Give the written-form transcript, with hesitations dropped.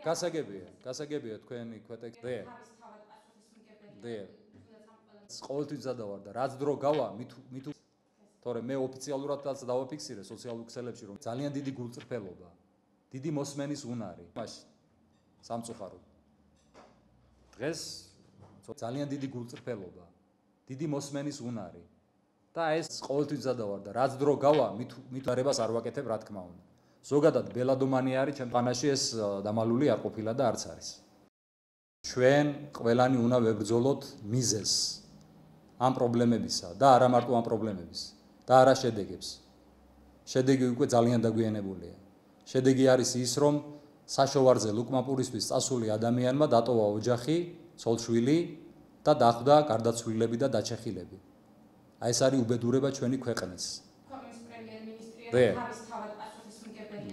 გასაგებია თქვენი ქვეტექსტი. ყოველთვის ზადავარ და რაც დრო გავა, მით თორე მე ოფიციალურადაც დავაფიქსირე სოციალურ ქსელებში, რომ ძალიან დიდი გულწრფელობა, დიდი მოსმენის უნარი, მაშინ სამწუხაროდ. დღეს ძალიან დიდი გულწრფელობა, დიდი მოსმენის უნარი და ეს ყოველთვის ზადავარ და რაც დრო გავა, მით არებას არ ვაკეთებ, რა თქმა უნდა. ზოგადად ბელადომანი არის ჩემ პანაში ეს დამალული არ ყოფილა და არც არის. ჩვენ ყველანი უნდა ვებრძოლოთ მიზეზს ამ პრობლემებისა და არა მარტო ამ პრობლემების და არა შედეგებს. შედეგი უკვე ძალიან დაგვიანებულია. შედეგი არის ის, რომ საშოვარზე ლუკმაპურისთვის წასული ადამიანმა დატოვა ოჯახი, ცოლ-შვილი და დახვდა გარდაცვლილები და დაჩეხილები. აი ეს არის უბედურება ჩვენი ქვეყნის. ქვეყნის პრემიერ-მინისტრი არის თავად პასუხისმგებელი.